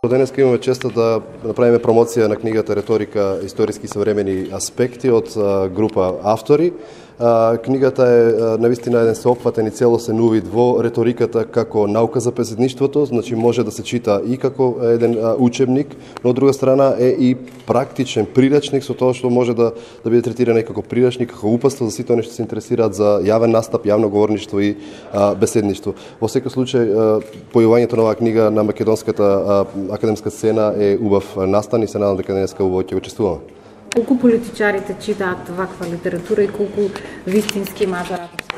Денеска имаме честа да направиме промоција на книгата Реторика, историски современи аспекти од група автори. Книгата е навистина еден сеопфатен и целосен увид во реториката како наука за беседништвото, значи може да се чита и како еден учебник, но од друга страна е и практичен прирачник со тоа што може да биде третиран и како прирачник, како упатство за сите оние што се интересираат за јавен настап, јавно говорништво и беседништво. Во секој случај појавувањето на оваа книга на македонската академска сцена е убав настан и се надам дека денеска убаво ќе го чествуваме. Колку политичарите читаат ваква литература и колку вистински мажораторски?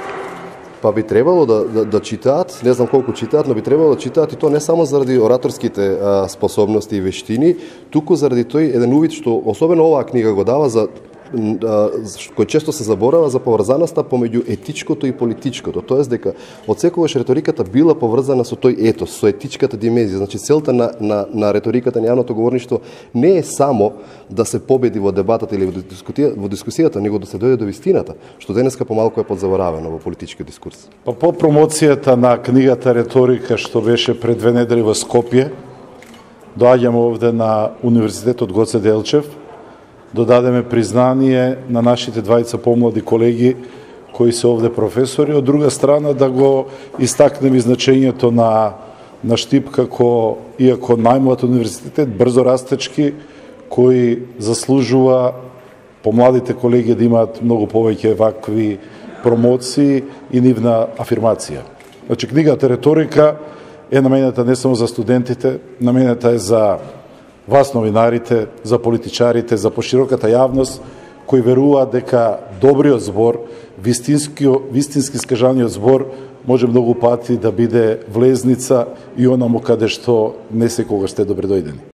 Па би требало да читаат, не знам колку читаат, но би требало да читаат и тоа не само заради ораторските способности и вештини, туку заради тој еден увид што особено оваа книга го дава за кој често се заборава за поврзаноста помеѓу етичкото и политичкото. Тоест дека од секогаш реториката била поврзана со тој етос, со етичката димензија. Значи целта на реториката на јавното говорништво не е само да се победи во дебатата или во дискусијата, него да се дојде до вистината, што денеска помалку е подзаборавено во политичкиот дискурс. По промоцијата на книгата Реторика што беше пред 2 недели во Скопје, доаѓаме овде на Универзитетот Гоце Делчев, додадеме признание на нашите двајца помлади колеги кои се овде професори, од друга страна да го истакнеме значењето на Штип како, иако најмлад универзитет, брзо растечки, кои заслужува помладите колеги да имаат многу повеќе вакви промоции и нивна афирмација. Значи, книгата Реторика е наменета не само за студентите, наменета е за вас новинарите, за политичарите, за пошироката јавност, кои веруваат дека добриот збор, вистински скажаниот збор, може многу пати да биде влезница и онаму каде што не секогаш сте добредојдени.